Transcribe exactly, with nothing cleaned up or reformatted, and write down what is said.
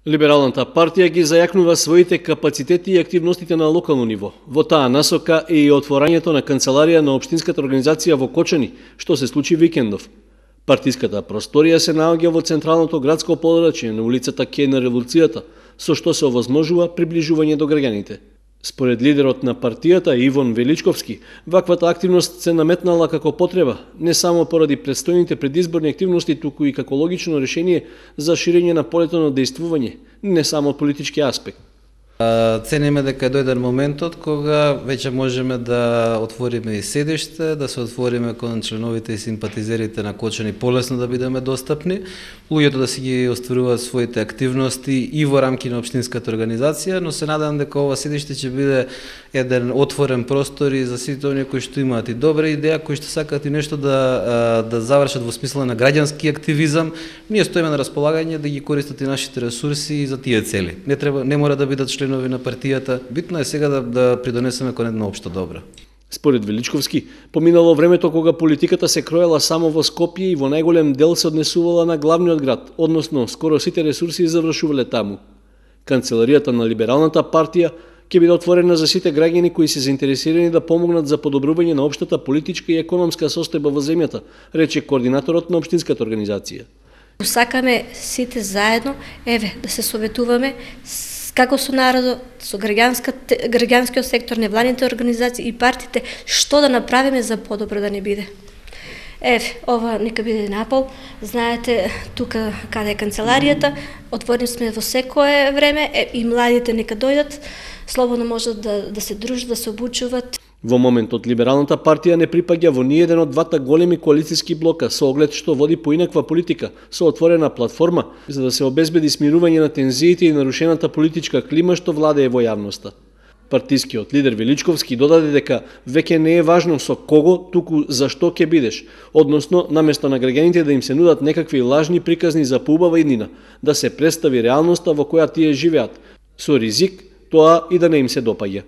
Либералната партија ги зајакнува своите капацитети и активностите на локално ниво. Во таа насока е и отворањето на канцеларија на општинската организација во Кочани, што се случи викендов. Партиската просторија се наоѓа во централното градско подрачје на улицата Ке на Револуцијата, со што се овозможува приближување до граѓаните. Според лидерот на партијата Ивон Величковски, ваквата активност се наметнала како потреба, не само поради предстојните предизборни активности, туку и како логично решение за ширење на полето на дејствување, не само од политички аспект. Цениме дека е дојден моментот кога веќе можеме да отвориме и седиште, да се отвориме кон членовите и симпатизерите на Кочани полесно да бидеме достапни, луѓето да си ги остваруваат своите активности и во рамки на општинската организација, но се надам дека ова седиште ќе биде еден отворен простор и за сите оние кои што имаат и добра идеја, кои што сакаат и нешто да да завршат во смисла на граѓански активизам. Ние стоиме на располагање да ги користат и нашите ресурси и за тие цели. Не треба не мора да бидат членови на партијата, битно е сега да, да придонесеме кон една општа добра. Според Величковски, поминало времето кога политиката се кроела само во Скопје и во најголем дел се однесувала на главниот град, односно скоро сите ресурси завршувале таму. Канцеларијата на Либералната партија ќе биде отворена за сите граѓани кои се заинтересирани да помогнат за подобрување на општата политичка и економска состојба во земјата, рече координаторот на општинската организација. Сакаме сите заедно, еве, да се советуваме како со народот, со граѓанскиот сектор, невладините организации и партиите, што да направиме за подобро да не биде. Еве, ова нека биде напол. Знаете, тука каде е канцеларијата, отворени сме во секое време, е, и младите нека дојдат, слободно можат да, да се дружат, да се обучуваат. Во моментот Либералната партија не припаѓа во ниеден од двата големи коалициски блока, со оглед што води поинаква политика, со отворена платформа, за да се обезбеди смирување на тензиите и нарушената политичка клима што владее во јавноста. Партискиот лидер Величковски додаде дека веќе не е важно со кого, туку за што ќе бидеш, односно наместо на граѓаните да им се нудат некакви лажни приказни за поубава иднина, да се представи реалноста во која тие живеат, со ризик тоа и да не им се допаѓа.